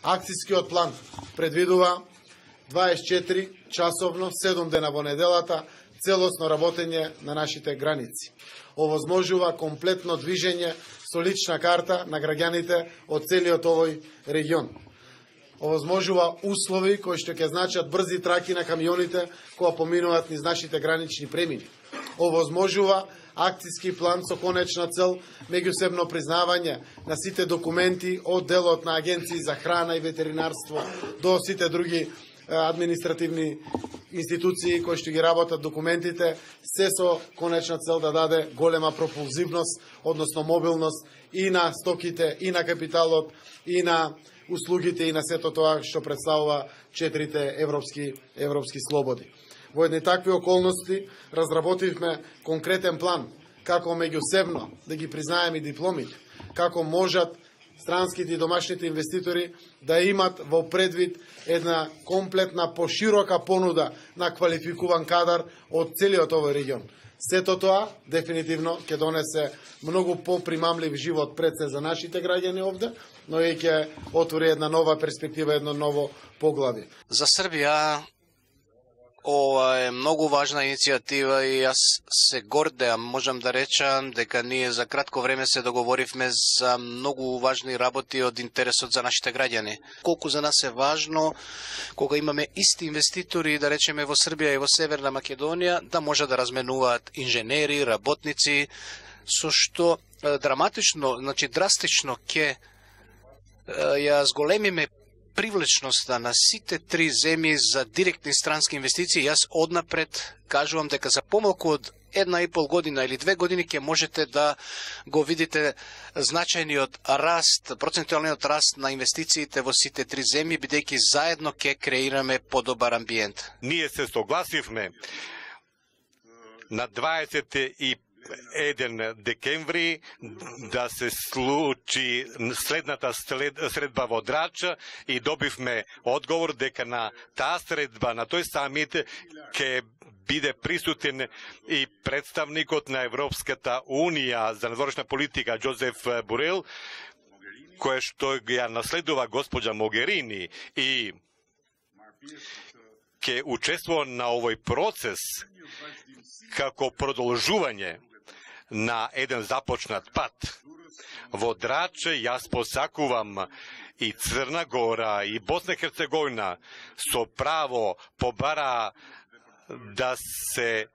Акцијскиот план предвидува 24 часовно, 7 дена во неделата, целосно работење на нашите граници. Овозможува комплетно движење со лична карта на граѓаните од целиот овој регион. Овозможува услови кои што ќе значат брзи траки на камионите кои поминуваат низ нашите гранични премини. Овозможува акцијски план со конечна цел меѓусебно признавање на сите документи од делот на агенции за храна и ветеринарство до сите други административни институции кои што ги работат документите, се со конечна цел да даде голема пропулзивност, односно мобилност и на стоките, и на капиталот, и на услугите, и на сето тоа што представува 4 европски слободи. Во едни такви околности разработивме конкретен план како меѓусебно да ги признаеме дипломите, како можат странските и домашните инвеститори да имат во предвид една комплетна поширока понуда на квалификуван кадар од целиот овој регион. Сето тоа дефинитивно ќе донесе многу попримамлив живот пред се за нашите граѓани овде, но и ќе отвори една нова перспектива, едно ново поглавје. За Србија ова е многу важна иницијатива и јас се гордеам, можам да речам дека ние за кратко време се договоривме за многу важни работи од интересот за нашите граѓани. Колку за нас е важно кога имаме исти инвеститори, да речеме во Србија и во Северна Македонија, да може да разменуваат инженери, работници, со што драматично, драстично ќе ја зголемиме привлечноста на сите три земји за директни странски инвестиции. Јас однапред кажувам дека за помалку од 1,5 година или 2 години ќе можете да го видите значајниот раст, процентуалниот раст на инвестициите во сите три земји, бидејќи заедно ќе креираме подобар амбиент. Ние се согласивме на 21 декември да се случи следната средба во Драч и добивме одговор дека на таа средба, на тој самит ќе биде присутен и представникот на Европската Унија за надворешна политика Джозеф Борел, кој што ја наследува госпоđа Могерини и ќе учествува на овој процес како продолжување на еден започнат пат. Во Драч јас посакувам и Црна Гора и Босна и Херцеговина со право побара да се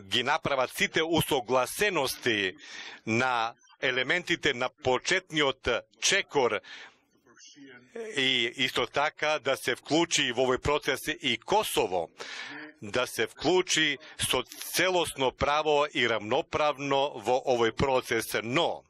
ги направат сите усогласености на елементите на почетниот чекор и исто така да се вклучи во овој процес и Косово, да се вклучи со целосно право и равноправно во овој процес, но